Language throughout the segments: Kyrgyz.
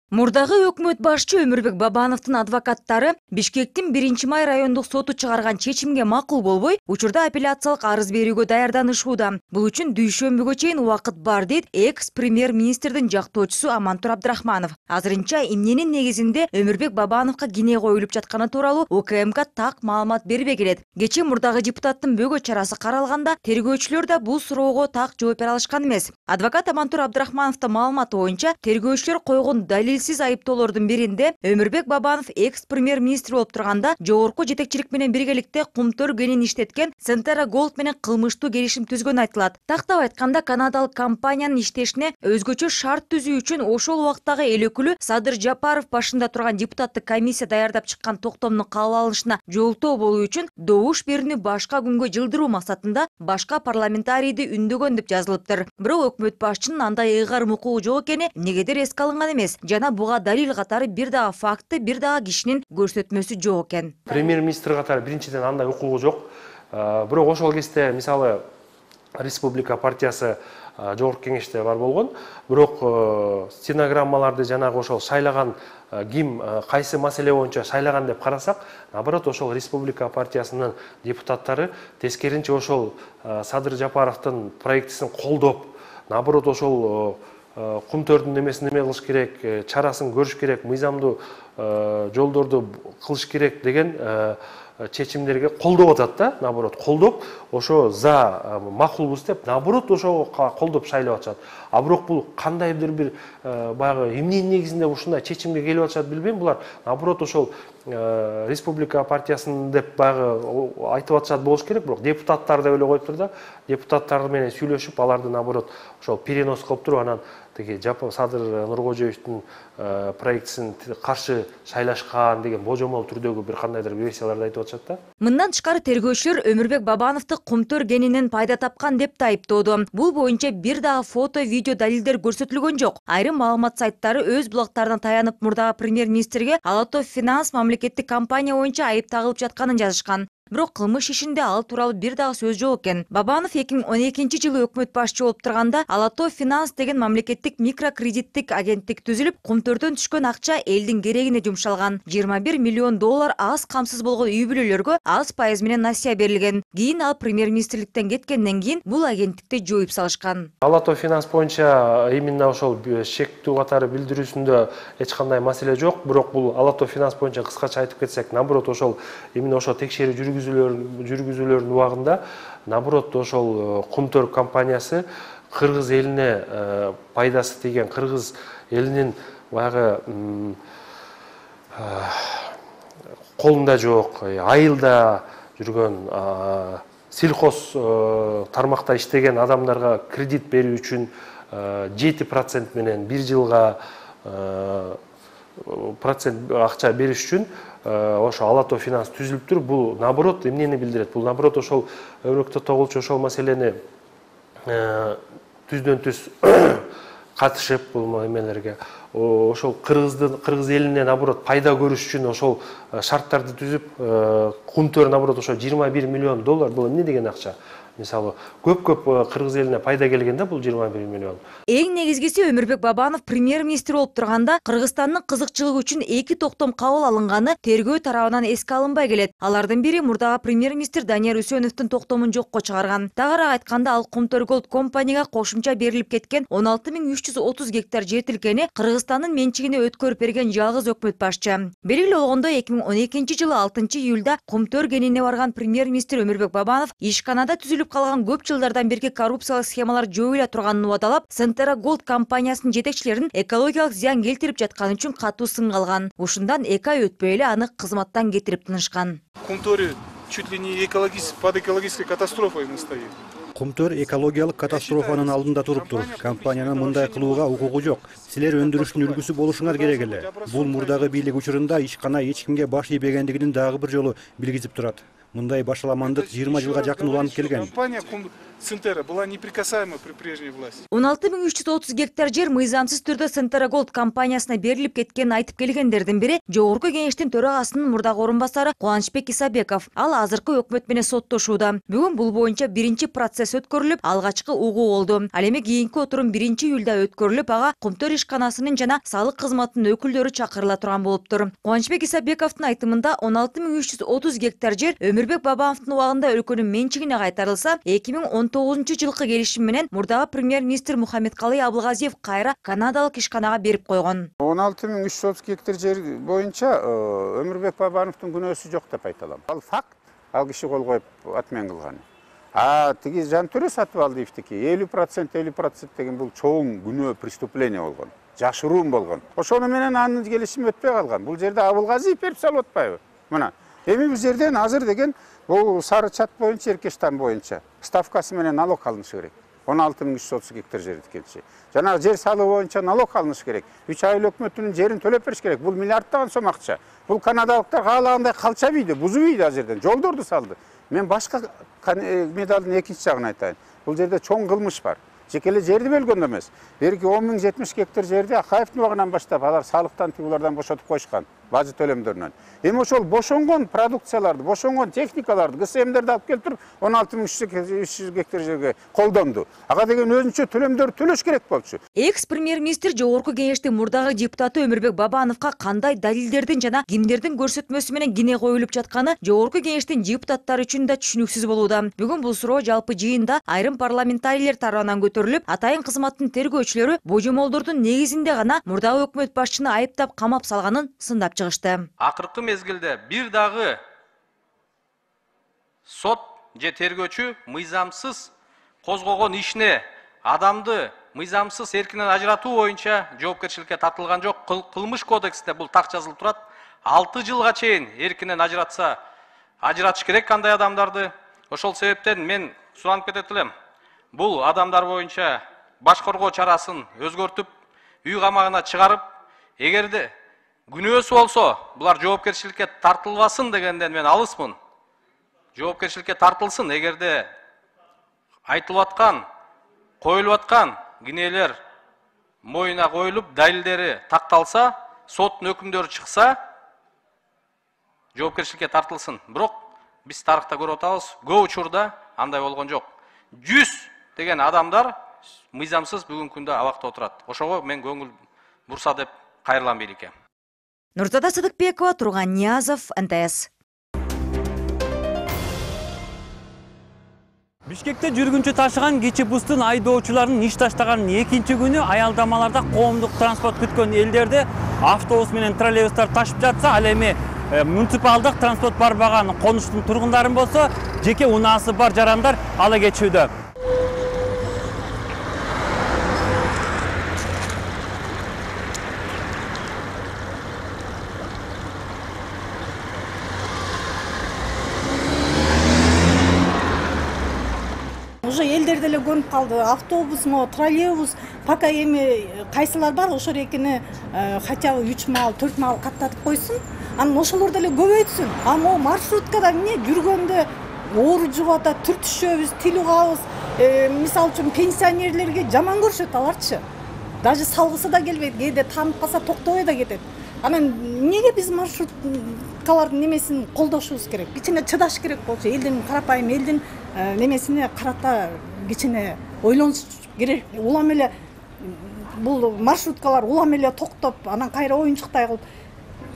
Мурдагы өкмөт башчы Өмүрбек Бабановдун адвокаттары Бишкектин 1-май райондук соту чыгарган чечимге макул болбой, учурда апелляциялык арыз берүүгө даярданышууда. Бул үчүн дүйшөмбүгө чейин убакыт бар дейт экс-премьер-министрдин жактоочусу Амантур Абдрахманов. Азырынча эмненин негизинде Өмүрбек Бабановго кине коюлуп жатканы тууралуу УКМК так маалымат бербей келет. Кечээ мурдагы депутаттын бөгөт чарасы каралганда тергөөчүлөр да бул суроого так жооп бере алышкан эмес. Адвокат Амантур Абдрахмановдун маалыматы боюнча, тергөөчүлөр койгон далилсиз айыптоолордун биринде Өмүрбек Бабанов экс-премьер-министр болуп турганда жогорку жетекчилик менен биргеликте кумтөр кенин иштеткен Centera Gold менен кылмыштуу келишим түзгөнү айтылат. Тактап айтканда, канадалык компаниянын иштешине өзгөчө шарт түзүү үчүн ошол убактагы эл өкүлү Садыр Жапаров башында турган депутаттык комиссия даярдап чыккан токтомдун кабыл алынышына жолтоо болуу үчүн добуш берүүнү башка күнгө жылдыруу максатында башка парламентарийди үндөгөн деп жазылыптыр. Бирок өкмөт башчынын андай ыйгарым укугу жок экени негедир эске алынган эмес. Жана буга далил катары бир дагы факты, бир дагы кишинин көрсөтмөсү жок экен. Премьер-министр катары биринчиден андай укугу жок. Бирок ошол кезде мисалы Республика партиясы жогорку кеңеште бар болгон. Бирок стенограммаларды жанагы ошол шайлаган ким кайсы маселе боюнча шайлаган деп карасак, наоборот ошол Республика партиясынын депутаттары тескеринче ошол Садыр Жапаровдун проектисин колдоп, наоборот ошол кумтөрдүн немесин неме кылыш керек, чарасын көрүш керек, мыйзамдуу жолдорду кылыш керек деген чечимдерге колдоп атат да, наоборот колдоп, ошо за макулбуз деп, наоборот ошого колдоп шайлап атышат. А бирок бул кандайдыр бир баягы эмненин негизинде ушундай чечимге келип атышат билбейм. Булар наоборот ошол Республика партиясын деп баягы айтып атышат болуш керек, бирок депутаттар деп эле коюптур да. Депутаттар менен сүйлөшүп, аларды наоборот ошол перенос кылып туруп, анан Садыр Нуркожоевдун проектисин каршы шайлашкан деген божомол түрдөгү бир кандайдыр версияларды айтып атышат да. Мындан тышкары тергөөчүлөр Өмүрбек Бабановду кумтөр кенинен пайда тапкан деп да айыптоодо. Бул боюнча бир дагы фото, видео далилдер көрсөтүлгөн жок. Айрым маалымат сайттары өз блогтарына таянып мурдагы премьер-министрге Алато Finance мамлекеттик компания боюнча айып тагылып жатканын жазышкан. Бирок кылмыш ишинде ал тууралуу бир дагы сөз жок экен. Бабанов 2012-жылы өкмөт башчы болуп турганда Алато Finance деген мамлекеттик микрокредиттик агенттик түзүлүп, кумтөрдөн түшкөн акча элдин керегине жумшалган. 21 миллион доллар аз камсыз болгон үй бүлөлөргө аз пайыз менен насыя берилген. Кийин ал премьер-министрликтен кеткенден кийин бул агенттикти жоюп салышкан. Алато Finance боюнча именно ошол шектүү катары билдирүүсүндө эч кандай маселе жок. Бирок бул Алато Finance боюнча кыскача айтып кетсек, наоборот ошол именно ошол текшерүү жүргүзүүлөрдүн убагында, наоборот ошол кумтөр компаниясы кыргыз элине пайдасы тийген, кыргыз элинин баягы колунда жок, айылда жүргөн сельхоз тармакта иштеген адамдарга кредит берүү үчүн 7% менен 1 жылга процент акча бериш үчүн ошо Алато Finance түзүлүптүр. Бул наоборот эмнени билдирет? Бул наоборот ошол Өмүрбек Токтогулчу ошол маселени түздөн түз катышып бул эмелерге ошол кыргыз элине наоборот пайда көрүш үчүн ошол шарттарды түзүп, кумтөр наоборот ошо 21 миллион доллар бул эмне деген акча? Мисалы, көп кыргыз элине пайда келгенде бул 21 миллион. Эң негизгиси Өмүрбек Бабанов премьер-министр болуп турганда Кыргызстандын кызыкчылыгы үчүн 2 токтом кабыл алынганы тергөө тарабынан эске алынбай келет. Алардын бири мурдагы премьер-министр Данияр Үсөновдун токтомун жокко чыгарган. Тагыраак айтканда, ал Кумтөр Голд компанияга кошумча берилип кеткен 16.330 гектар жер тилкени Кыргызстандын менчигине өткөрүп берген жалгыз өкмөт башчы. Белгилүү болгондо 2012-жылы 6-июлда Кумтөр кенине барган премьер-министр Өмүрбек Бабанов ишканада түзүлүп калган көп жылдардан берки коррупциялык схемалар жоюла турганын убадалап, Centera Gold компаниясынын жетекчилерин экологиялык зыян келтирип жатканы үчүн катуу сынга алган. Ушундан 2 ай өтпөй эле аны кызматтан кетирип тынышкан. Кумтөр чуть ли не под экологической катастрофой мы стоим. Кумтөр экологиялык катастрофанын алдында туруптур. Компаниянын мындай кылууга укугу жок. Силер өндүрүштүн үлгүсү болушуңар керек эле. Бул мурдагы бийлик учурунда ишкана эч кимге баш ийбегендигинин дагы бир жолу билгизип турат. Мындай башаламандык 20 жылга жакын уланып келген. Компания Центера была неприкасаема при прежней власти. 16330 гектар жер мыйзамсыз түрдө Центера Голд компаниясына берилип кеткенин айтып келгендердин бири Жогорку Кеңештин төрагасынын мурдагы орун басары Кубанычбек Исабеков. Ал азыркы өкмөт менен соттошууда. Бүгүн бул боюнча биринчи процесс өткөрүлүп, алгачкы угуу болду. Ал эми кийинки отурум 1-июлда өткөрүлүп, ага Кумтөр ишканасынын жана салык кызматынын өкүлдөрү чакырыла турган болуптур. Кубанычбек Исабековдун айтымында 16330 гектар жер Өмүрбек Бабановдун убагында өлкөнүн менчигине кайтарылса, 2019-жылкы келишим менен мурдагы премьер-министр Мухаммедкалый Абылгазиев кайра канадалык ишканага берип койгон. 16330 гектар жер боюнча Өмүрбек Бабановдун күнөөсү жок деп айта алам. Ал факт, ал киши кол коюп атмен кылган. Тиги Жантөре Сатыбалдиевдики 50% деген бул чоң күнөө, преступление болгон. Жашыруун болгон. Ошону менен анын келишими өтпөй калган. Бул жерде Абылгазиев берип салып атпайбы? Мына, эми бул жерден азыр деген бул сары чат боюнча, Эркештан боюнча ставкасы менен налог алынышы керек. 16330 гектар жер дегенчи. Жана жер салыгы боюнча налог алыныш керек. 3 айыл өкмөтүнүн жерин төлөп бериш керек. Бул миллиарддаган сом акча. Бул канадалыктар каалагандай калча бийди, бузу бийди азерден, жолдорду салды. Мен башка медалдын экинчи жагын айтайын. Бул жерде чоң кылмыш бар. Жекеле жерди бөлгөн эмес. Берки 10.070 гектар жерди Акаевдин убагынан баштап алар салыктан тигулардан бошотуп койушкан, бажы төлөмдөрүнөн. Эми ошол бошонгон продукцияларды, бошонгон техникаларды, ГСМдерди алып келтирип 16300 гектар жерге колдонду. Ага деген өзүнчө төлөмдөр төлөш керек болчу. Экс-премьер-министр Жогорку Кеңештин мурдагы депутаты Өмүрбек Бабановго кандай далилдердин жана кимдердин көрсөтмөсү менен кине коюлуп жатканы Жогорку Кеңештин депутаттары үчүн да түшүнүксүз болууда. Бүгүн бул суроо жалпы жыйында айрым парламентарийлер тарабынан көтөрүлүп, атайын кызматтын тергөөчүлөрү божомолдордун негизинде гана мурдагы өкмөт башчыны айыптап камап салганын сындап чыгышты. Акыркы мезгилде бир дагы сот же тергөөчү мыйзамсыз козгогон ишине адамды мыйзамсыз эркинен ажыратуу боюнча жоопкерчиликке тартылган жок. Кылмыш кодексинде бул так жазылып турат. 6 жылга чейин эркинен ажыратыш керек кандай адамдарды. Ошол себептен мен суранып кетет элем. Бул адамдар боюнча баш коргоо чарасын өзгөртүп, үй камагына чыгарып, эгерде күнөөсү болсо, булар жоопкерчиликке тартылбасын дегенден мен алысмын. Жоопкерчиликке тартылсын, эгерде айтылып аткан, коюлуп аткан кинелер моюна коюлуп, далилдери такталса, соттун өкүмдөрү чыкса, жоопкерчиликке тартылсын. Бирок биз тарыхта көрүп атабыз, көп учурда андай болгон жок. 100 деген адамдар мыйзамсыз бүгүнкү күндө абакта отурат. Ошого мен көңүл бурса деп кайрылам бийликке. Нурзада Сыдыкбекова, Турган Ниязов, НТС. Бишкекте жүргүнчү ташыган кичи бустун айдоочуларынын иш таштаганын экинчи күнү аялдамаларда коомдук транспорт күткөн элдерди автобус менен троллейбустар ташып жатса, ал эми муниципалдык транспорт барбаган конуштун тургундарын болсо, жеке унаасы бар жарандар ала кетишүүдө. Уже элдер деле көрүнүп калды. Автобусмо, троллейбус, пока эми кайсылар бар, ошол экини хотя бы 3 мал, 4 мал каттатып койсун. Анан ошолор деле көбөйтсүн. А могу маршруткада эмне жүргөндө оору жугуп атат, түртүшөбүз, тил угабыз. Мисалы үчүн пенсионерлерге жаман көрүшөт аларчы. Даже салгысы да келбейт, кээде таанып калса токтобой да кетет. Анан эмнеге биз маршруткалардын немесин колдошубуз керек? Кичине чыдаш керек болчу. Элдин карапайым элдин немесине карата кичине ойлонуш керек. Улам эле бул маршруткалар улам эле токтоп, анан кайра оюнчуктай кылып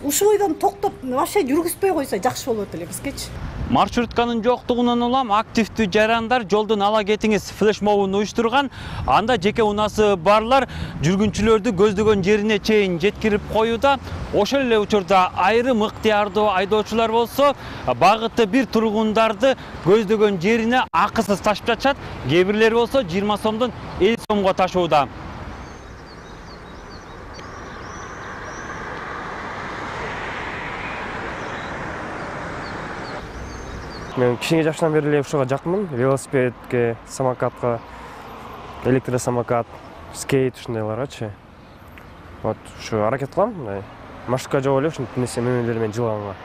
ушул бойдон токтоп вообще жүргүзбөй койсо жакшы болот эле бизгечи. Маршрутканын жоктугунан улам активдүү жарандар жолдун ала кетиңиз флешмобун уюштурган. Анда жеке унасы барлар жүргүнчүлөрдү көздөгөн жерине чейин жеткирип коюуда. Ошол эле учурда айрым ыктыярдуу айдоочулар болсо, багыты бир тургундарды көздөгөн жерине акысыз ташып жатышат. Кээ бирлери болсо 20 сомдон 50 сомго ташууда. Мен кичине жашынан бери эле ушуга жакмын. Велосипедке, самокатка, электросамокат, скейт ушундайларгачы. Вот ушу аракет кылам, маршрутка жок эле ушинтип нерсе мөмөлөр менен жылганга.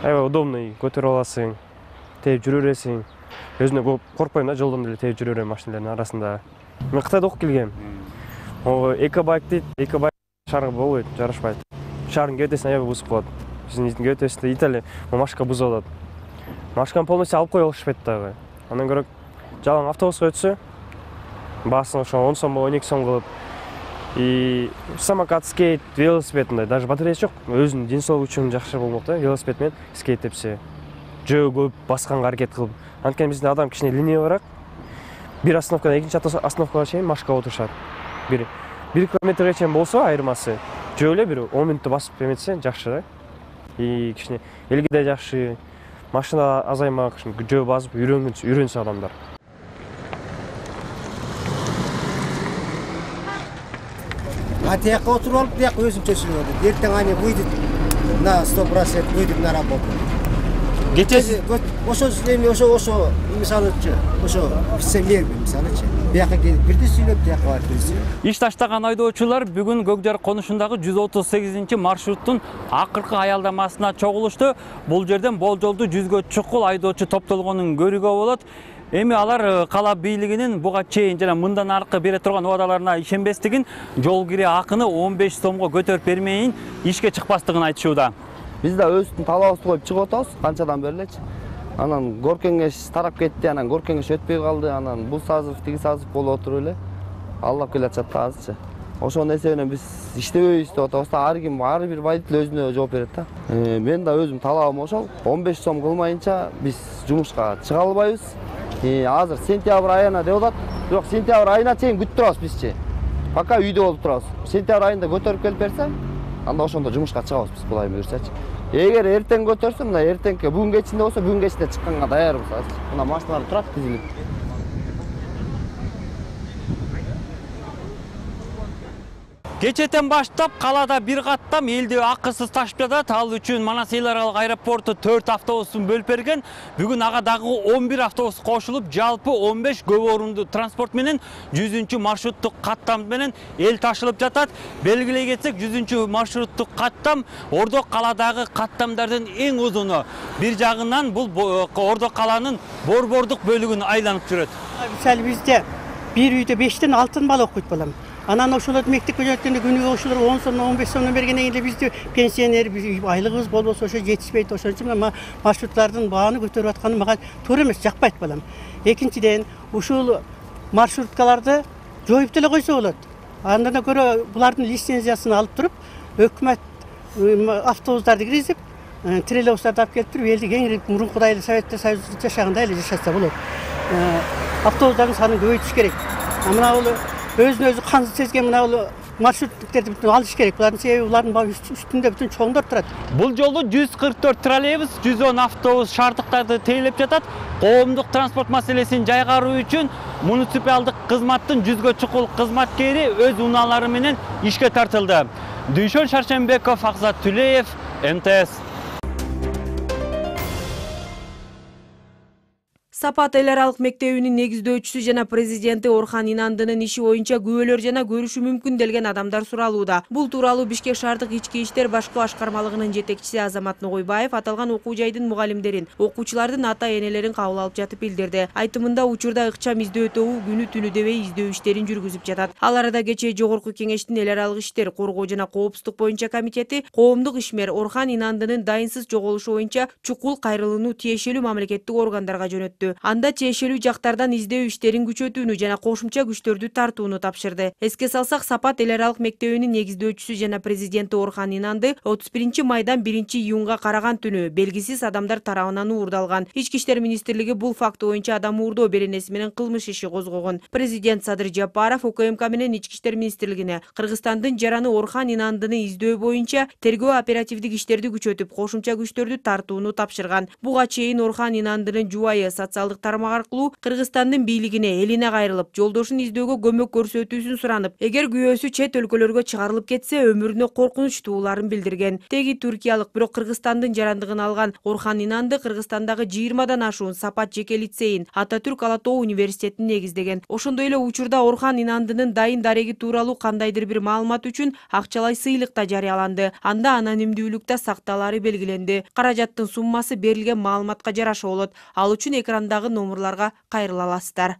Аябай удобный, көтөрүп аласың, тээп жүрө бересиң. өзүнө көп коркпойм да, жолдон деле терип жүрө берем машиналардын арасында. Мен Кытайда окуп келгем. О экобайк дейт, экобайк шаарга болбойт, жарашпайт. Шаардын кебетесин аябай бузуп коет. Биздин кебетесинде Италия машка бузуп алат. Машканы полностью алып кое алышпайт дагы. Андан көрө жалаң автобуска өтсө, баасын ошо 10 сом, 12 сом кылып, и самокат, скейт, велосипед мындай, даже батареясы жок. Өзүнүн ден соолугу үчүн жакшы болмок да, велосипед менен скейт тепсе. Жөө көп басканга аракет кылып. Анткени биздин адам кичине ленивыраак. Бир остановкадан экинчи остановкага чейин машка отурушат. Бир километрге чейин болсо айырмасы, жөө эле бир 10 мүнөттө басып эметсе жакшы да. И кичине элге да жакшы, машина азаймак, жөө басып үйрөнсө адамдар. Тияққа отырып алып, тияққа өзінше сүріп ертең ане выйдет на 100%, выйдет на работу. Кечеси ошо мисалы ошо офицерлер мисалычы. Бияққа келип бирди сүйлөп, тияққа барып бирди сүйлөп. иш таштаган айдоочулар бүгүн Көкжар конушундагы 138 маршруттун акыркы аялдамасына чогулушту. Бул жерден болжолдуу 100гө чукул айдоочу топтолгонун көрүүгө болот. Эми алар кала бийлигинин буга чейин жана мындан аркы бере турган убадаларына ишенбестигин, жол кире акыны 15 сомго көтөрүп бермейин ишке чыкпастыгын айтышууда. Биз да өздүн талабыбызды коюп чыгып атабыз, канчадан бери элечи. Анан горкеңеш тарап кетти, анан горкеңеш өтпөй калды, анан бул сазыв, тиги сазыв болуп отуруп эле аллап келатышат да азырчы. Ошонун эсебинен биз иштебейбиз деп атабыз да, ар бир водитель өзүнө жооп берет да. Мен да өзүм талабым ошол, 15 сом кылмайынча биз жумушка чыга албайбыз. Азыр сентябрь айына деп атат. Бирок сентябрь айына чейин күтүп турабыз бизчи. Пока үйдө болуп турабыз. Сентябрь айында көтөрүп келип берсе, анда ошондо жумушка чыгабыз биз, Кудай буйрсачы. Эгер эртең көтөрсө, мына эртеңке бүгүн кечинде болсо, бүгүн кечинде чыкканга даярбыз азыр. Мына машиналар турат тизилип. Кечетен баштап калада бир каттам элди акысыз ташып жатат. Ал үчүн Манас эл аралык аэропорту 4 автобустун бөлүп берген. Бүгүн ага дагы 11 автобус кошулуп, жалпы 15 көп орунду транспорт менен 100 маршруттук каттам менен эл ташылып жатат. Белгилей кетсек, 100 маршруттук каттам Ордо каладагы каттамдардын эң узуну. Бир жагынан бул Ордо каланын борбордук бөлүгүн айланып жүрөт. Мисалы бизде бир үйдө 5тен 6 бала окуйт балам. Анан ошолорду мектепке жөнөткөндө күнүгө ошолор 10 сом, 15 сомдон бергенден кийин бизде пенсионер, айлыгыбыз болбосо ошо жетишпейт. Ошон үчүн мына маршруттардын бааны көтөрүп атканы мага туура эмес, жакпайт балам. Экинчиден, ушул маршруткаларды жоюп деле койсо болот. Андан көрө булардын лицензиясын алып туруп, өкмөт автобустарды киргизип, троллейбустарды алып келип туруп, элди кеңирип, мурункудай эле Советтер Союзунда жашагандай эле жашаса болот. Автобустардын санын көбөйтүш керек. Мына бул өзүн өзү кансыз сезген мына бул маршруттуктерди бүтүн алыш керек. Булардын себеби булардын үстүндө бүтүн чоңдор турат. Бул жолу 144 троллейбус, 110 автобус шаардыктарды тейлеп жатат. Коомдук транспорт маселесин жайгаруу үчүн муниципалдык кызматтын 100гө чукул кызматкери өз унаалары менен ишке тартылды. Дүйшөн Шаршенбеков, Акзат Түлеев, МТС. Сапат эл аралык мектебинин негиздөөчүсү жана президенти Орхан Инандынын иши боюнча күбөлөр жана көрүшү мүмкүн делген адамдар суралууда. Бул тууралуу Бишкек шаардык ички иштер башкы башкармалыгынын жетекчиси Азамат Ногойбаев аталган окуу жайдын мугалимдерин, окуучулардын ата-энелерин кабыл алып жатып билдирди. Айтымында учурда ыкчам издөө тобу күнү түнү дебей издөө иштерин жүргүзүп жатат. Ал арада кечээ Жогорку Кеңештин эл аралык иштер, коргоо жана коопсуздук боюнча комитети коомдук ишмер Орхан Инандынын дайынсыз жоголушу боюнча чукул кайрылууну тиешелүү мамлекеттик органдарга жөнөттү. Анда тиешелүү жактардан издөө иштерин күчөтүүнү жана кошумча күчтөрдү тартууну тапшырды. Эске салсак, Сапат эл аралык мектебинин негиздөөчүсү жана президенти Орхан Инанды 31 майдан 1 июнга караган түнү белгисиз адамдар тарабынан уурдалган. Ички иштер министрлиги бул факты боюнча адам уурдоо беренеси менен кылмыш иши козгогон. Президент Садыр Жапаров УКМК менен Ички иштер министрлигине Кыргызстандын жараны Орхан Инандыны издөө боюнча тергөө оперативдик иштерди күчөтүп, кошумча күчтөрдү тартууну тапшырган. Буга чейин Орхан Инандынын жубайы социалдык тармак аркылуу Кыргызстандын бийлигине элине кайрылып, жолдошун издөөгө көмөк көрсөтүүсүн суранып, эгер күйөөсү чет өлкөлөргө чыгарылып кетсе, өмүрүнө коркунуч тууларын билдирген. Теги түркиялык, бирок Кыргызстандын жарандыгын алган Орхан Инанды Кыргызстандагы 20дан ашуун Сапат жеке лицейин, Ататүрк Ала Тоо университетин негиздеген. Ошондой эле учурда Орхан Инандынын дайын дареги тууралуу кандайдыр бир маалымат үчүн акчалай сыйлык да жарыяланды. Анда анонимдүүлүктө сакталаары белгиленди. Каражаттын суммасы берилген маалыматка жараша болот. Ал үчүн экранда телефондагы номерларга кайрыла аласыздар.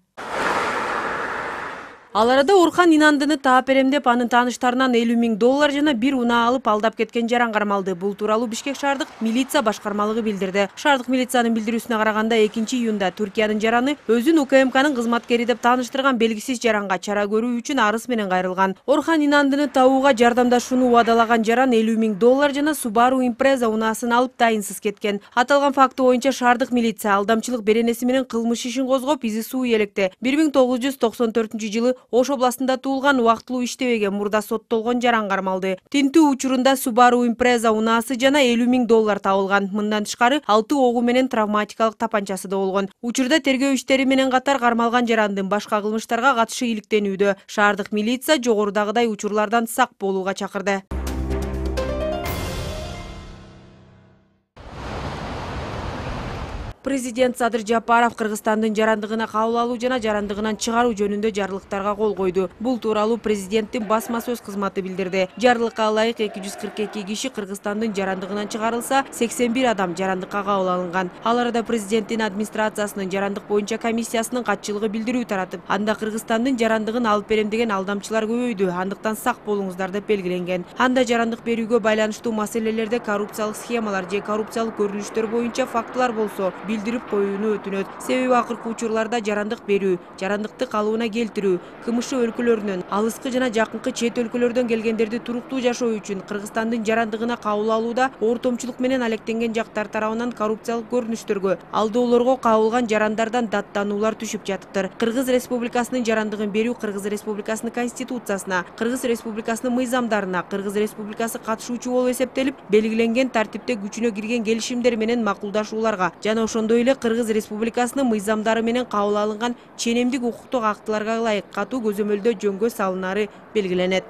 Ал арада Орхан Инандыны таап берем деп анын тааныштарынан $50,000 жана бир унаа алып алдап кеткен жаран кармалды. Бул тууралуу Бишкек шаардык милиция башкармалыгы билдирди. Шаардык милициянын билдирүүсүнө караганда 2-июнда Түркиянын жараны өзүн УКМКнын кызматкери деп тааныштырган белгисиз жаранга чара көрүү үчүн арыз менен кайрылган. Орхан Инандыны табууга жардамдашууну убадалаган жаран $50,000 жана Subaru Impreza унаасын алып дайынсыз кеткен. Аталган факты боюнча шаардык милиция алдамчылык беренеси менен кылмыш ишин козгоп, изи суу электе 1994-жылы Ош областында туулган убактылуу иштебеген мурда соттолгон жаран кармалды. Тинтүү учурунда Subaru Impreza унаасы жана $50,000 табылган. Мындан тышкары 6 огу менен травматикалык тапанчасы да болгон. Учурда тергөө иштери менен катар кармалган жарандын башка кылмыштарга катышы иликтенүүдө. Шаардык милиция жогорудагыдай учурлардан сак болууга чакырды. Президент Садыр Жапаров Кыргызстандын жарандыгына кабыл алуу жана жарандыгынан чыгаруу жөнүндө жарлыктарга кол койду. Бул тууралуу президенттин басма сөз кызматы билдирди. Жарлыкка ылайык 242 киши Кыргызстандын жарандыгынан чыгарылса, 81 адам жарандыкка кабыл алынган. Ал арада президенттин администрациясынын жарандык боюнча комиссиясынын катчылыгы билдирүү таратып, анда Кыргызстандын жарандыгын алып берем деген алдамчылар көбөйдү. Андыктан сак болуңуздар деп белгиленген. Анда жарандык берүүгө байланыштуу маселелерде коррупциялык схемалар же коррупциялык көрүнүштөр боюнча фактылар болсо, билдирип коюуну өтүнөт. Себеби акыркы учурларда жарандык берүү, жарандыкты калыбына келтирүү, КМШ өлкөлөрүнөн, алыскы жана жакынкы чет өлкөлөрдөн келгендерди туруктуу жашоо үчүн Кыргызстандын жарандыгына кабыл алууда ортомчулук менен алектенген жактар тарабынан коррупциялык көрүнүштөргө, алдоолорго кабылган жарандардан даттануулар түшүп жатыптыр. Кыргыз Республикасынын жарандыгын берүү Кыргыз Республикасынын Конституциясына, Кыргыз Республикасынын мыйзамдарына, Кыргыз Республикасы катышуучу болуп эсептелип, белгиленген тартипте күчүнө кирген келишимдер менен макулдашууларга жана ошондой эле Кыргыз Республикасынын мыйзамдары менен кабыл алынган ченемдик укуктук актыларга ылайык катуу көзөмөлдө жөнгө салынары белгиленет.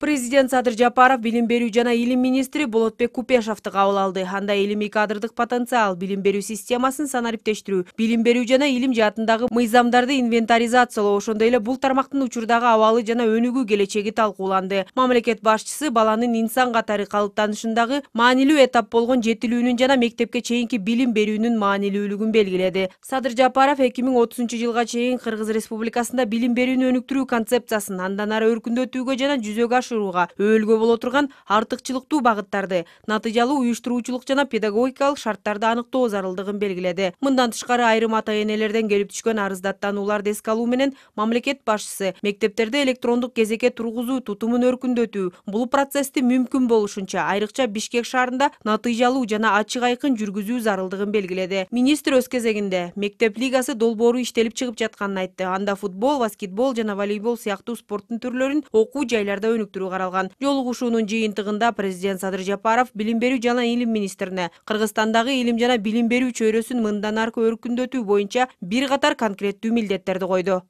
Президент Садыр Жапаров билим берүү жана илим министри Болотбек Купешовду кабыл алды. Анда илимий кадрдык потенциал, билим берүү системасын санариптештирүү, билим берүү жана илим жаатындагы мыйзамдарды инвентаризациялоо, ошондой эле бул тармактын учурдагы абалы жана өнүгүү келечеги талкууланды. Мамлекет башчысы баланын инсан катары калыптанышындагы маанилүү этап болгон жетилүүнүн жана мектепке чейинки билим берүүнүн маанилүүлүгүн белгиледи. Садыр Жапаров 2030-жылга чейин Кыргыз Республикасында билим берүүнү өнүктүрүү концепциясын андан ары өркүндөтүүгө жана жүзөгө өөлгө боло турган артыкчылыктуу багыттарды, натыйжалуу уюштуруучулук жана педагогикалык шарттарды аныктоо зарылдыгын белгиледи. Мындан тышкары айрым ата-энелерден келип түшкөн арыздаттанууларды эске алуу менен мамлекет башчысы мектептерде электрондук кезекке тургузуу тутумун өркүндөтүү, бул процессти мүмкүн болушунча айрыкча Бишкек шаарында натыйжалуу жана ачык айкын жүргүзүү зарылдыгын белгиледи. Министр өз кезегинде мектеп лигасы долбоору иштелип чыгып жатканын айтты. Анда футбол, баскетбол жана волейбол сыяктуу спорттун түрлөрүн окуу жайларда өнүктүрүү каралган. Жолугушуунун жыйынтыгында президент Садыр Жапаров билим берүү жана илим министрине Кыргызстандагы илим жана билим берүү чөйрөсүн мындан аркы өркүндөтүү боюнча бир катар конкреттүү милдеттерди койду.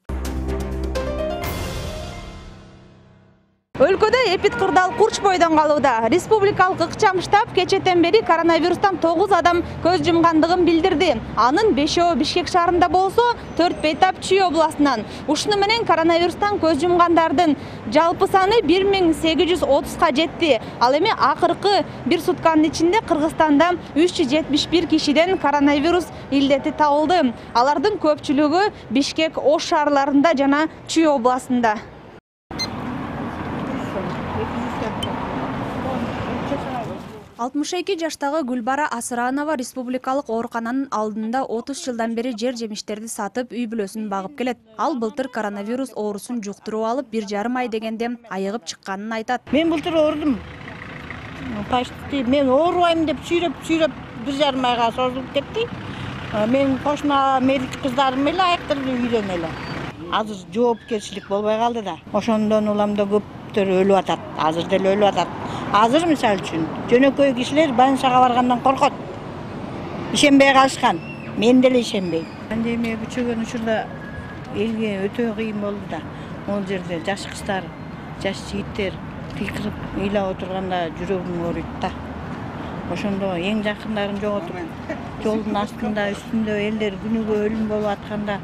Өлкөдө эпид кырдаал курч бойдон калууда. Республикалык ыкчам штаб кечэтен бери коронавирустан 9 адам көз жумгандыгын билдирди. Анын 5-өө Бишкек шаарында болсо, 4 бейтап Чүй областынан. Ушуну менен коронавирустан көз жумгандардын жалпы саны 1830га жетти. Ал эми акыркы бир сутканын ичинде Кыргызстанда 371 кишиден коронавирус илдети табылды. Алардын көпчүлүгү Бишкек, Ош шаарларында жана Чүй областында. 62 жаштагы Гүлбара Асыранова республикалык оорукананын алдында 30 жылдан бери жер жемиштерди сатып, үй бүлөсүн багып келет. Ал былтыр коронавирус оорусун жуктуруп алып, 1,5 ай дегенде айыгып чыкканын айтат. Мен былтыр оорудум. Почти мен оорубайм деп сүйрөп 1,5 айга созулуп кетти. Мен кошуна медик кыздарым менен айыктырып үйдөн эле. Азыр жоопкерчилик болбой калды да. Ошондон улам да көптөр өлүп атат. Азыр деле өлүп атат. Азыр мисалы үчүн жөнөкөй кишилер больницага баргандан коркот. Ишенбей калышкан. Мен деле ишенбейм. Пандемия күчөгөн учурда элге өтө кыйын болду да. Ол жерде жаш кыздар, жаш жигиттер кыйкырып ыйлап отурганда жүрөгүм ооруйт да. Ошондо эң жакындарын жоготуп, жолдун астында, үстүндө элдер күнүгө өлүм болуп атканда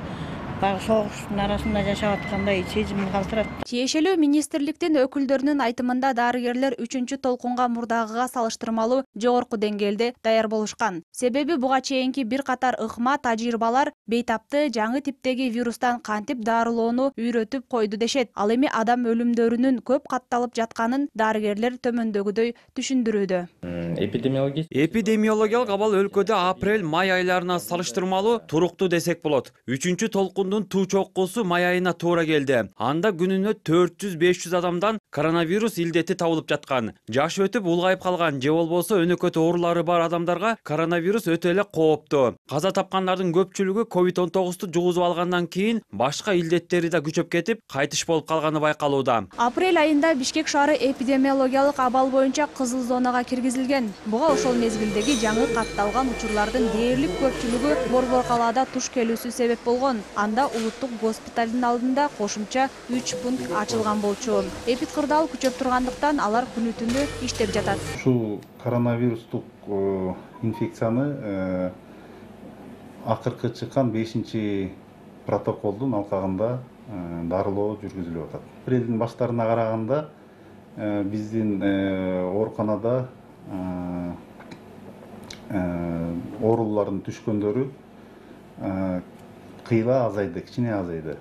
баягы согуштун арасында жашап аткандай сезимди калтырат. Тиешелүү министрликтин өкүлдөрүнүн айтымында дарыгерлер 3-чү толкунга мурдагыга салыштырмалуу жогорку деңгээлде даяр болушкан. Себеби буга чейинки бир катар ыкма тажрыйбалар бейтапты жаңы типтеги вирустан кантип дарылоону үйрөтүп койду дешет. Ал эми адам өлүмдөрүнүн көп катталып жатканын дарыгерлер төмөндөгүдөй түшүндүрүүдө. Эпидемиологиялык абал өлкөдө апрель-май айларына салыштырмалуу туруктуу десек болот. 3-чү толкундун туу чоккусу май айына туура келди. Анда күнүнө 400-500 адамдан коронавирус илдети табылып жаткан. Жашы өтүп улгайып калган же болбосо өнөкөт оорулары бар адамдарга коронавирус өтө эле кооптуу. Каза тапкандардын көпчүлүгү COVID-19 жугузуп алгандан кийин башка илдеттери да күчөп кетип, кайтыш болуп калганы байкалууда. Апрель айында Бишкек шаары эпидемиологиялык абал боюнча кызыл зонага киргизилген. Буга ошол мезгилдеги жаңы катталган учурлардын дээрлик көпчүлүгү Борбор калаада туш келүүсү себеп болгон. Анда улуттук госпиталдын алдында кошумча 3 пункт ачылган болчу. Эпидкырдаал күчөп тургандыктан алар күнү-түнү иштеп жатат. Ушул коронавирустук инфекцияны акыркы чыккан 5-чи протоколдун алкагында дарылоо жүргүзүлүп атат. Апрелдин баштарына караганда биздин ооруканада оорулардын түшкөндөрү кыйла азайды, кичине азайды.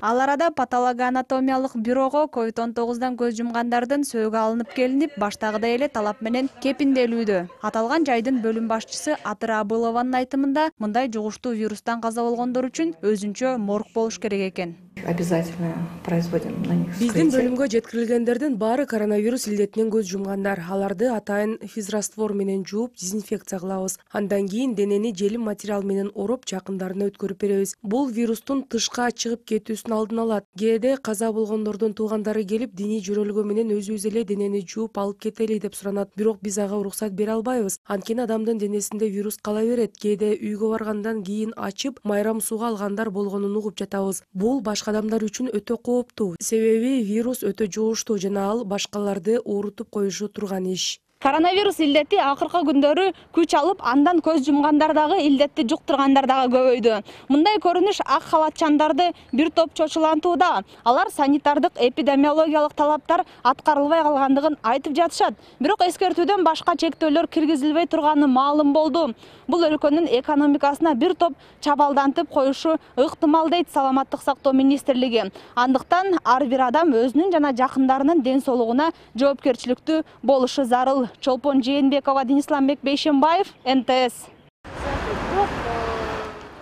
Ал арада патологоанатомиялык бюрого COVID-19 көз жумгандардын сөөгү алынып келинип, баштагыдай эле талап менен кепинделүүдө. Аталган жайдын бөлүм башчысы Атыра Абылованын айтымында, мындай жугуштуу вирустан каза болгондор үчүн өзүнчө морг болуш керек экен. Обязательно производим на них вскрытие. Биздин бөлүмгө жеткирилгендердин баары коронавирус илдетинен көз жумгандар. Аларды атайын физраствор менен жууп, дезинфекция кылабыз. Андан кийин денени желим материал менен ороп, жакындарына өткөрүп беребиз. Бул вирустун тышка чыгып кетүүсүн алдын алат. Кээде каза болгондордун туугандары келип, диний жөрөлгө менен өзүбүз эле денени жууп алып кетели деп суранат. Бирок биз ага уруксат бере албайбыз. Анткени адамдын денесинде вирус кала берет. Кээде үйгө баргандан кийин ачып, майрам сууга алгандар болгонун угуп жатабыз. Бул башка адамдар үчүн өтө кооптуу. Себеби вирус өтө жугуштуу жана ал башкаларды оорутуп коюшу турган иш. Коронавирус илдети акыркы күндөрү күч алып, андан көз жумгандар дагы илдетти жуктургандар дагы көбөйдү. Мындай көрүнүш ак халатчандарды бир топ чочулантууда. Алар санитардык эпидемиологиялык талаптар аткарылбай калгандыгын айтып жатышат. Бирок эскертүүдөн башка чектөөлөр киргизилбей турганы маалым болду. Бул өлкөнүн экономикасына бир топ чабалдантып коюшу ыктымал дейт Саламаттык сактоо министрлиги. Андыктан ар бир адам өзүнүн жана жакындарынын ден соолугуна жоопкерчиликтүү болушу зарыл. Чолпон Жээнбекова, Денисламбек Бейшенбаев, НТС.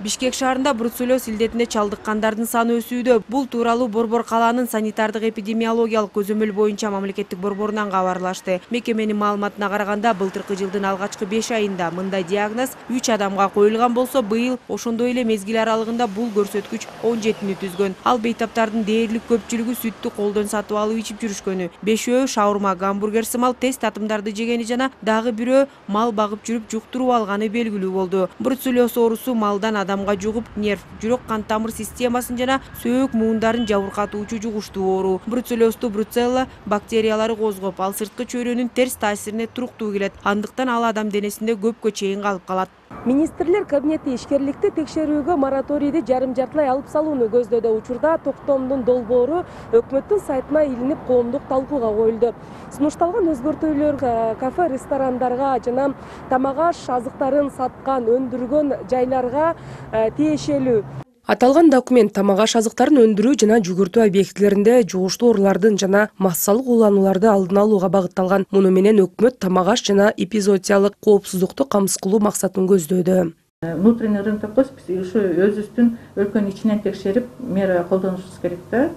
Бишкек шаарында бруцеллез илдетине чалдыккандардын саны өсүүдө. Бул тууралуу Борбор калаанын санитардык эпидемиологиялык көзөмөл боюнча мамлекеттик борборунан кабарлашты. Мекеменин маалыматына караганда, былтыркы жылдын алгачкы 5 айында мындай диагноз 3 адамга коюлган болсо, быйыл ошондой эле мезгил аралыгында бул көрсөткүч 17-ни түзгөн. Ал бейтаптардын дээрлик көпчүлүгү сүттү колдон сатып алып ичип жүрүшкөнү. 5өө шаурма, гамбургер сымал тест татымдарды жегени жана дагы бирөө мал багып жүрүп жуктуруп алганы белгилүү болду. Бруцеллез оорусу малдан адамга жугуп, нерв, жүрөк кан тамыр системасын жана сөөк муундарын жабыркатуучу жугуштуу оору. Бруцеллезду бруцелла бактериялары козгоп, ал сырткы чөйрөнүн терс таасирине туруктуу келет. Андыктан ал адам денесинде көпкө чейин калып калат. Министрлер кабинети ишкерликти текшерүүгө мораторийди жарым-жартылай алып салууну көздөдө. Учурда токтомдун долбоору өкмөттүн сайтына илинип коомдук талкууга коюлду. Сунушталган өзгөртүүлөр кафе, ресторандарга жана тамак аш азыктарын саткан, өндүргөн жайларга тиешелүү. Аталган документ тамак аш азыктарын өндүрүү жана жүгүртүү объектилеринде жугуштуу оорулардын жана массалык уланууларды алдын алууга багытталган. Муну менен өкмөт тамак аш жана эпизоотиялык коопсуздукту камсыз кылуу максатын көздөөдө. Внутренний рынок биз ушу өзүбүздүн өлкөнүн ичинен текшерип, мера колдонушубуз керек да.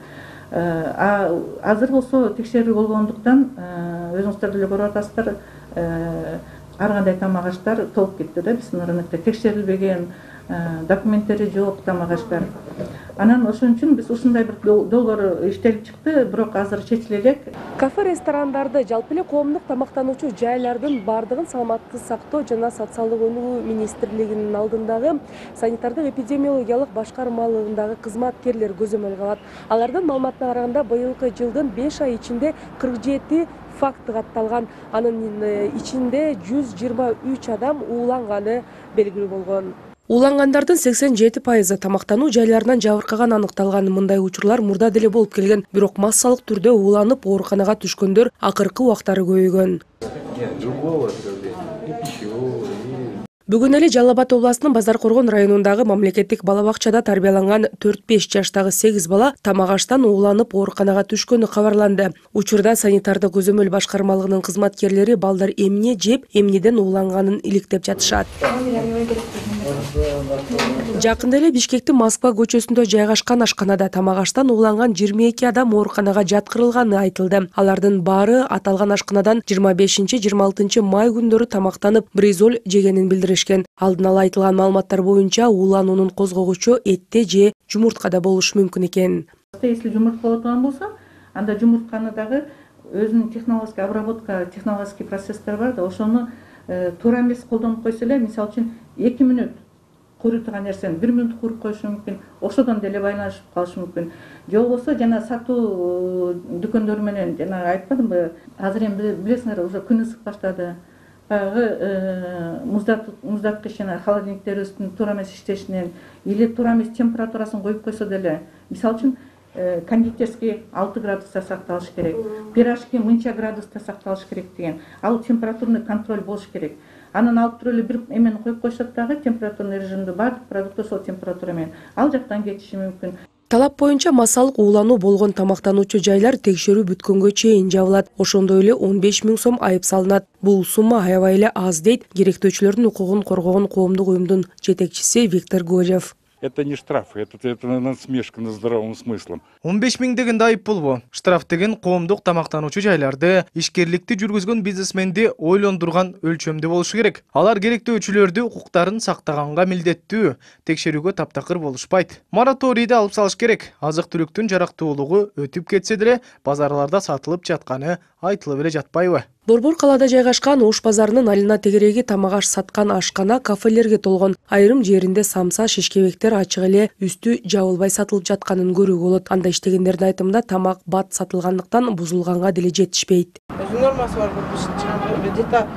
Азыр болсо текшерүү болгондуктан өзүңүздөр деле көрүп атасыздар, ар кандай тамак аштар толуп кетти да биздин рынокто. Текшерилбеген, документтери жок тамак аштар. Анан ошон үчүн биз ушундай бир долбоор иштелип чыкты, бирок азыр чечиле элек. Кафе ресторандарды, жалпы эле коомдук тамактануучу жайлардын бардыгын саламаттыкты сактоо жана социалдык өнүгүү министрлигинин алдындагы санитардык эпидемиологиялык башкармалыгындагы кызматкерлер көзөмөл кылат. Алардын маалыматына караганда быйылкы жылдын 5 ай ичинде 47 факт катталган. Анын ичинде 123 адам ууланганы белгилүү болгон. Уулангандардын 87% тамактануу жайларынан жабыркаган аныкталган. Мындай учурлар мурда деле болуп келген, бирок массалык түрдө ууланып ооруканага түшкөндөр акыркы убактары көбөйгөн. Бүгүн эле Жалал Абад областынын Базар Коргон районундагы мамлекеттик бала бакчада тарбияланган 4-5 жаштагы 8 бала тамак аштан ууланып ооруканага түшкөнү кабарланды. Учурда санитардык көзөмөл башкармалыгынын кызматкерлери балдар эмне жеп, эмнеден ууланганын иликтеп жатышат. Жакында эле Бишкектин Москва көчөсүндө жайгашкан ашканада тамак аштан ууланган 22 адам ооруканага жаткырылганы айтылды. Алардын баары аталган ашканадан 25-26 май күндөрү тамактанып, бризоль жегенин билдиришкен. Алдын ала айтылган маалыматтар боюнча уулануунун козгогучу этте же жумурткада болушу мүмкүн экен. Если жумуртка боло турган болсо, анда жумуртканы дагы өзүнүн технологический обработка, технологический процесстер бар да, ошону туура эмес колдонуп койсо эле, мисалы үчүн 2 мүнөт куруй турган нерсени 1 мүнөт куруп коюшу мүмкүн, ошодон деле байланышып калышы мүмкүн. Же болбосо жана сатуу дүкөндөр менен жана айтпадымбы, азыр эми билесиңер, уже күн ысык баштады. Баягы муздаткыч жана холодильниктерибиздин туура эмес иштешинен или туура эмес температурасын коюп койсо деле, мисалы үчүн кондитерский 6 градуста сакталыш керек, пирожки мынча градуста сакталыш керек деген. Ал температурный контроль болуш керек. Анан алып туруп эле бир эмени коюп койсок дагы температурный режимде баардык продукты сол температура менен ал жактан кетиши мүмкүн. Талап боюнча массалык уулануу болгон тамактануучу жайлар текшерүү бүткөнгө чейин жабылат. Ошондой эле 15 000 сом айып салынат. Бул сумма аябай эле аз дейт керектөөчүлөрдүн укугун коргогон коомдук уюмдун жетекчиси Виктор Горев. Это не штраф, это насмешка над здравым смыслом. 15 000 деген айып болбу. Штраф деген коомдук тамактануучу жайларды, ишкерликти жүргүзгөн бизнесменди ойлондурган өлчөмдө болушу керек. Алар керектөөчүлөрдү укуктарын сактаганга милдеттүү, текшерүүгө таптакыр болушпайт. Мораторийди алып салыш керек. Азык-түлүктүн жарактуулугу өтүп кетсе деле, базарларда сатылып жатканы айтылып эле жатпайбы? Борбор калаада жайгашкан Ош базарынын алына тегереги тамак аш саткан ашкана кафелерге толгон. Айрым жеринде самса, шишкебектер ачык эле үстү жабылбай сатылып жатканын көрүүгө болот. Анда иштегендердин айтымында тамак бат сатылгандыктан бузулганга деле жетишпейт. Өзүнүн нормасы бар, где-то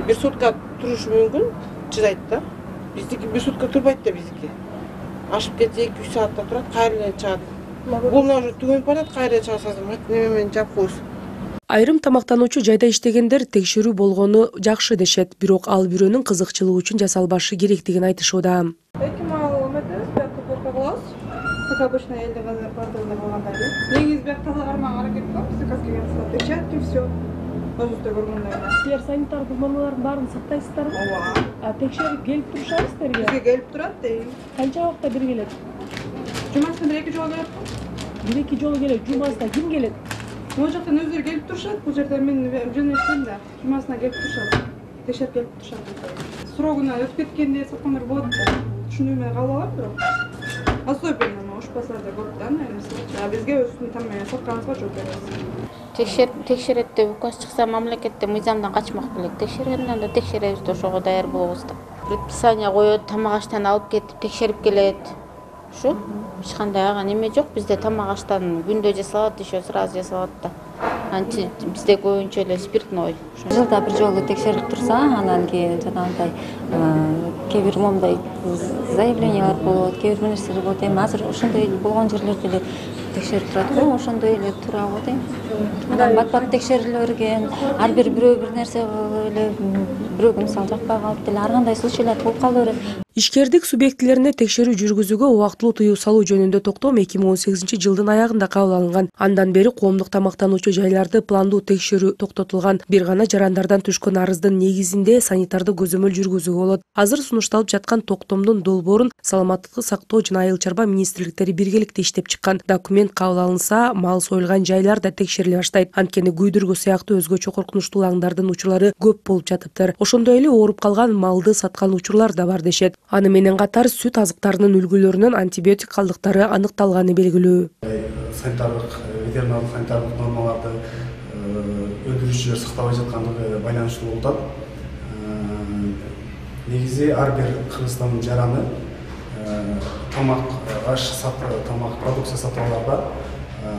бир сутка турушу мүмкүн, чыдайт да. Биздики бир сутка турбайт да биздики. Ашып кетсе 2-3 саатта турат, кайра эле чыгат. Бул уже түгөнүп барат, кайра чыгасыз, неме менен жаап коесуз. Айрым тамактануучу жайда иштегендер текшерүү болгону жакшы дешет, бирок ал бирөөнүн кызыкчылыгы үчүн жасалбашы керектигин айтышууда. 2 мал эметебиз, биякта көрпө кылабыз. Как обычно элде бардыгында болгондой эле. Негизи биякта кармага аракет кылабыз, заказ келген текшерет и всё. Өзүбүздө көргөндөй эле. Силер санитардык нормалардын баарын сактайсыздарбы? Ооба. Текшерип келип турушабыз силерге? Бизге келип турат, Канча убакта бир келет? Жумасына 1-2 жолу келет. 1-2 жолу келет. Жумасына ким келет? Могу жактан өздөрү келип турушат, бул жерде мен жөнөштүм да. Жумасына келип турушат. Текшерип келип турушат. Срогуна өтүп кеткенде саткандар болот да. Түшүнүү менен кабыл алам бирок. Особенно Ош базарда көп да, а бизге өзүбүздүн там сатканыбызга жооп беребиз. Текшерет деп указ чыкса, мамлекетте мыйзамдан качмак белек. Текшергенден да текшеребиз да, ошого даяр болобуз да. Предписание коет, тамак аштан алып кетип текшерип келет. Ушу эч кандай ага неме жок. Бизде тамак аштан күндө жасалат, еще сразу жасалат да. Анчы бизде көбүнчө эле спиртной. Жылда бир жолу текшерип турса, анан кийин жанагындай кээ бир момундай заявлениялар болот, кээ бир нерселер болот. Эми азыр ошондой болгон жерлерде эле текшерип турат го, ошондой эле тура го дейм. Анан бат-бат текшериле берген, ар бир бирөө бир нерсе эле бирөөгө мисалы жакпай калып деле ар кандай случайлар болуп кала берет. Ишкердик субъектилерине текшерүү жүргүзүүгө убактылуу тыюу салуу жөнүндө токтом 2018 жылдын аягында кабыл алынган. Андан бери коомдук тамактануучу жайлар жарандарды пландуу текшерүү токтотулган. Бир гана жарандардан түшкөн арыздын негизинде санитардык көзөмөл жүргүзүүгө болот. Азыр сунушталып жаткан токтомдун долбоорун Саламаттыкты сактоо жана айыл чарба министрликтери биргеликте иштеп чыккан. Документ кабыл алынса, мал союлган жайлар да текшериле баштайт. Анткени күйдүргү сыяктуу өзгөчө коркунучтуу аңдардын учурлары көп болуп жатыптыр. Ошондой эле ооруп калган малды саткан учурлар да бар дешет. Аны менен катар сүт азыктарынын үлгүлөрүнөн антибиотик калдыктары аныкталганы белгилүү. Санитардык, ветеринардык санитардык нормаларды өндүрүүчүлөр сактабай жаткандыгы байланыштуу болуп атат. Негизи ар бир Кыргызстандын жараны тамак аш тамак продукция сатып алганда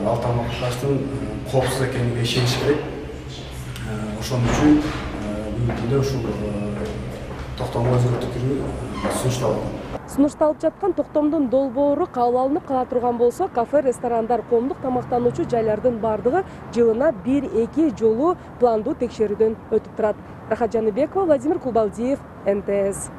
ал тамак аштын коопсуз экенине ишениш керек. Ошон үчүн бүгүнкү күндө ушул токтомго өзгөртүү кирүү сунушталат. Сунушталып жаткан токтомдун долбоору кабыл алынып кала турган болсо, кафе, ресторандар, коомдук тамактануучу жайлардын бардыгы жылына 1-2 жолу пландуу текшерүүдөн өтүп турат. Рахат Жаныбекова, Владимир Кубалдиев, НТС.